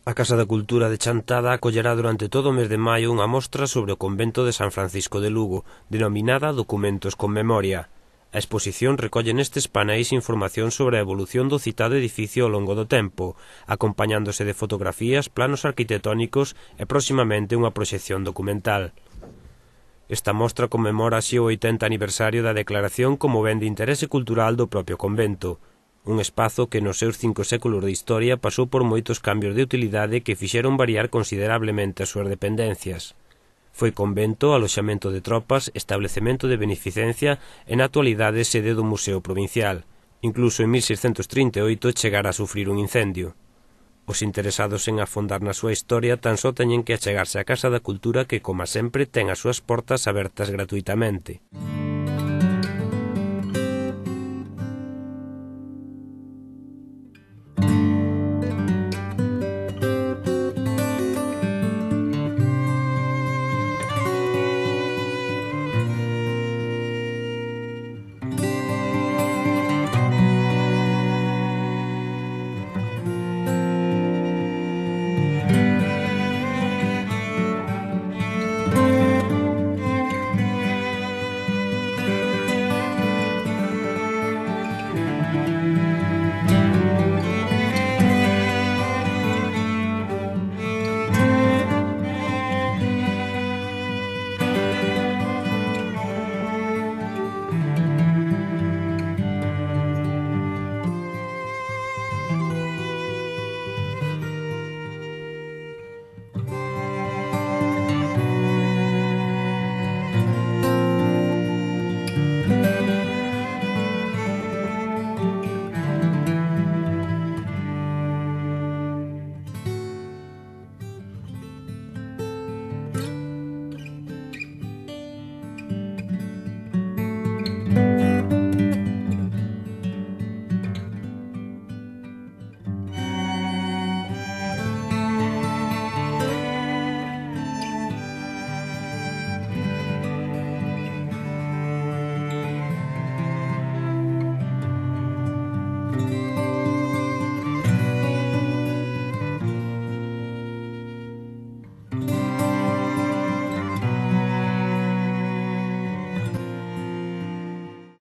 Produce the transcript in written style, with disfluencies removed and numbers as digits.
A Casa da Cultura de Chantada acollerá durante todo o mes de maio unha mostra sobre o convento de San Francisco de Lugo, denominada Documentos con Memoria. A exposición recolle nestes paneis información sobre a evolución do citado edificio ao longo do tempo, acompañándose de fotografías, planos arquitectónicos e próximamente unha proxección documental. Esta mostra conmemora así o 80 aniversario da declaración como ben de interese cultural do propio convento, un espazo que nos seus 5 séculos de historia pasou por moitos cambios de utilidade que fixeron variar considerablemente as súas dependencias. Foi convento, aloxamento de tropas, establecemento de beneficencia e na actualidade sede do Museo Provincial. Incluso en 1638 chegara a sufrir un incendio. Os interesados en afondar na súa historia tan só teñen que achegarse á Casa da Cultura que, como sempre, ten as súas portas abertas gratuitamente.